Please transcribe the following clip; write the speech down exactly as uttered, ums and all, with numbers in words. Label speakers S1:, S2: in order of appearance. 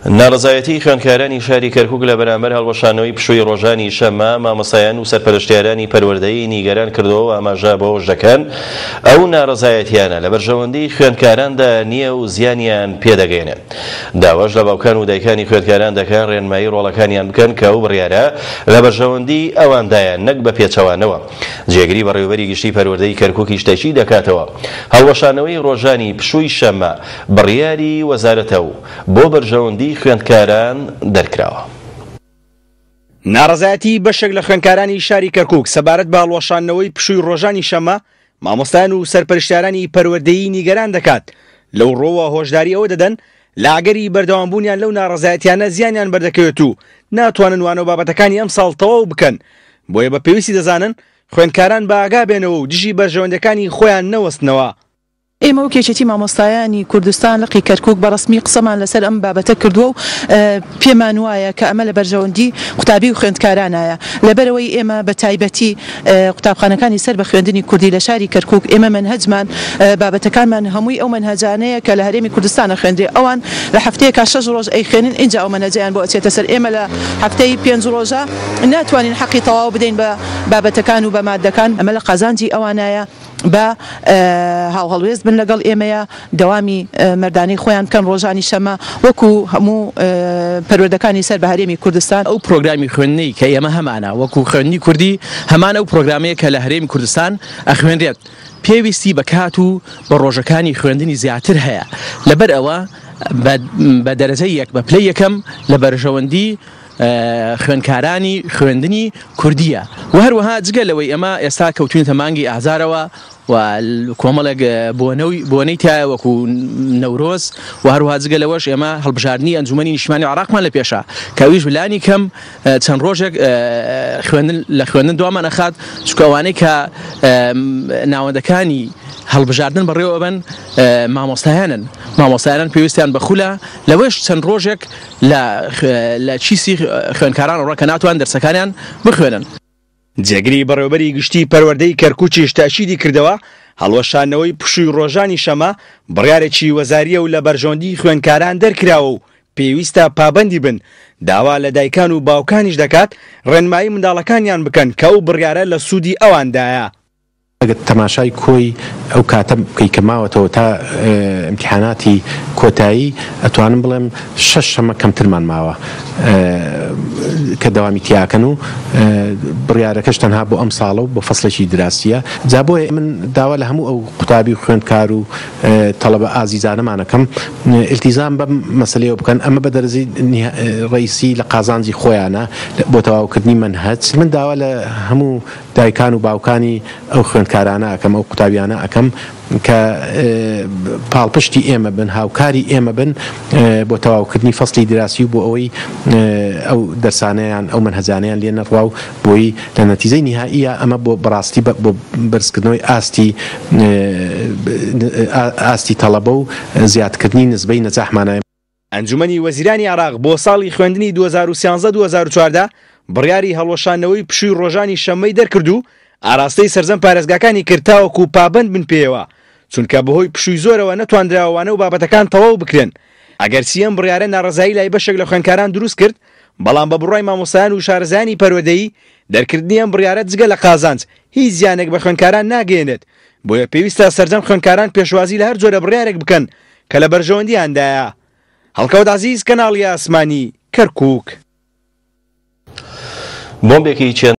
S1: ناڕەزایەتی خوێندکارانی شاری کەرکوک لە بەرامبەر هەڵوەشانەوەی پشووی ڕۆژانی شەممە مامۆستایان و سەرپەرشتیارانی پەروەردەیی نیگەران کردەوە و ئاماژە بەوەش دەکەن ئەو ناڕەزایەتیانە لە بەرژەوەندی خوێندکاراندا نییە و زیانیان پێدەگەیەنێت. داواش لە باوکان و دایکانی خوێندکاران دەکەن ڕێنمایی ڕۆڵەکانیان بکەن کە ئەو بڕیارە لە بەرژەوەندی ئەواندایە نەک بە پێچەوانەوە. جێگری بەڕێوەبەری گشتی پەروەردەی کەرکوکیش تەئکید دەکاتەوە هەڵوەشانەوەی ڕۆژانی پشووی شەممە بڕیاری وەزارەتە و بۆ بەرژەوەندی خوێندکاران دەرکراوە.
S2: ناڕەزایەتی بەشێک لە خوێندکارانی شاری کەرکوک سەبارەت بە هەڵوەشاندنەوەی پشووی ڕۆژانی شەممە مامۆستایان و سەرپەرشتیارانی پەروەردەیی نیگەران دەکات. لەو ڕۆوە هۆشداری ئەوە دەدەن لە ئەگەری بەردەوامبوونیان لەو ناڕەزایەتیانە زیانیان بەردەکەوێت و ناتوانن وانە و بابەتەکانی ئەمساڵ تەواو بکەن، بۆیە بە پێویستی دەزانن خوێندکاران بە ئاگا بێنەوە و دژی بەرژەوەندەکانی خۆیان نەوەستنەوە.
S3: ئێمە وەک یەکێتی مامۆستایانی کوردستان لقی کەرکوک بە ڕەسمی قسەمان لەسەر ئەم بابەتە کردووە و پێمان وایە کە ئەمە لە بەرژەوەندی قوتابی و خوێندکارانایە. لەبەرەوەی ئێمە بە تایبەتی قوتابخانەکانی سەر بە خوێندنی کوردی لە شاری کەرکوک ئێمە مەنهەجمان بابەتەکانمان هەمووی ئەو مەنهەجانەیە کە لە هەرێمی کوردستانە خوێندرێ. ئەوان لە هەفتەیەکا شەش ڕۆژ ئەیخوێنن ئینجا ئەو مەنهەجیان بۆ ئەچێتە سەر. ئێمە لە هەفتەی پێنج ڕۆژە ناتوانین حەقی تەواو بدەین بە بابەتەکان و بە مادەکان. ئەمە لە قازانجی ئەوانایە بە هاوهەڵوێست بن لەگەڵ ئێمەیە، دەوامی مەردانەی خۆیان بکەن ڕۆژانی شەمە وەکو هەموو پەروەردەکانی سەر بە هەرێمی کوردستان.
S4: ئەو پرۆگرامی خوێندنەی کە ئێمە هەمانە وەکو خوێندنی کوردی هەمان ئەو پرۆگرامەیە کە لە هەرێمی کوردستان ئەخوێنرێت، پێویستی بە کات و بە ڕۆژەکانی خوێندنی زیاتر هەیە. لەبەر ئەوە بە دەرەجەی یەک بە پلەی یەکەم لە بەرژەوەندی خوێندکارانی خوێندنی کوردیە. و هەروەها جگە لەوەی ئێمە ئێستا کەوتوینەتە مانگی ئازارەوە و کۆمەڵێک بۆنەی تایە وەکو نەورۆز و هەروەها جگە لەوەش ئێمە هەڵبژاردنی ئەنجومەنی نیشتمانی عێراقمان لە پێشە کە ئەویش لانی کەم چەند ڕۆژێک خوێندن لە خوێندن دوامان ئەخات، چونکە ئەوانەی کە ناوەندەکانی هەڵبژاردن بەڕێوە بن مامۆستایانن، مامۆستایانن پێویستیان بە خولە، لەوەش چەند ڕۆژێک لە چیسی خوێندکاران ڕۆ کە ناتوان دەرسەکانیان بخوێنن.
S2: جێگری بەڕێوەبەری گشتی پەروەردەی کەرکوکیش تەئکیدی کردەوە هەڵوەشاندنەوەی پشووی ڕۆژانی شەمە بڕیارێکی وەزاریە و لە بەرژەوەندی خوێندکاران دەرکراوە و پێویستە پابەندی بن. داوا لە دایکان و باوکانیش دەکات ڕێنمایی منداڵەکانیان بکەن کە ئەو بڕیارە لە سوودی ئەواندایە.
S5: ئەگەر تەماشای کۆی ئەو کاتە بکەی کە ماوەتەوە تا ئیمتیحاناتی کۆتایی، ئەتوانم بڵێم شەش شەمە کەمترمان ماوە کە دەوامی تیاکەن و بڕیارەکەش تەنها بۆ ئەم ساڵە و بۆ فەسڵێکی دراسیە. جا بۆیە من داوا لە هەموو ئەو قوتابی و خوێندکار و تەڵەبە ئازیزانەمانەکەم ئیلتیزام بەم مەسلەیەوە بکەن. ئەمە بە دەرەجەی ڕئیسی لە قازانجی خۆیانە بۆ تەواوکردنی مەنهەج. من داوا لە هەموو دایکان و باوکانی ئەو خوێندکارانە ئەکەم، ئەو قوتابیانە ئەکەم کە پاڵپشتی ئێمە بن، هاوکاری ئێمە بن بۆ تەواوکردنی فەصلی دراسی و بۆ ئەوەی ئەو دەرسانەیان ئەو مەنهەجانەیان لێ نەڕوا و بۆی لە نەتیجەی نیهاییە ئەمە بۆ بەڕاستی بۆ بەرزکردنەوەی ئاستی ئاستی تەڵەبە و زیادکردنی نسبەی نەجاحمانە.
S2: ئەنجومەنی وەزیرانی عێراق بۆ ساڵی خوێندنی دوو هەزار و سیانزە دوو هەزار و چواردە بڕیاری هەڵوەشاندنەوەی پشووی ڕۆژانی شەممەی دەرکرد و ئاراستەی سەرجەم پارێزگاکانی کرد تاوەکو پابەند بن پێیەوە، چونکە بەهۆی پشووی زۆرەوە نەتواندراوە وانە و بابەتەکان تەواو بکرێن. ئەگەرچی ئەم بڕیارە ناڕەزایی لای بەشێک لە خوێندکاران دروست کرد، بەڵام بە بڕوای مامۆستایان و شارەزایانی پەروەردەیی دەرکردنی ئەم بڕیارە جگە لە قازانج هیچ زیانێک بە خوێندکاران ناگەیەنێت، بۆیە پێویستە سەرجەم خوێندکاران پێشوازی لە هەر جۆرە بڕیارێک بکەن کە لە بەرژەوەندیاندایە. هەڵکەوت عەزیز، کەناڵی ئاسمانی، کەرکوک.
S1: بۆمبێکی چێن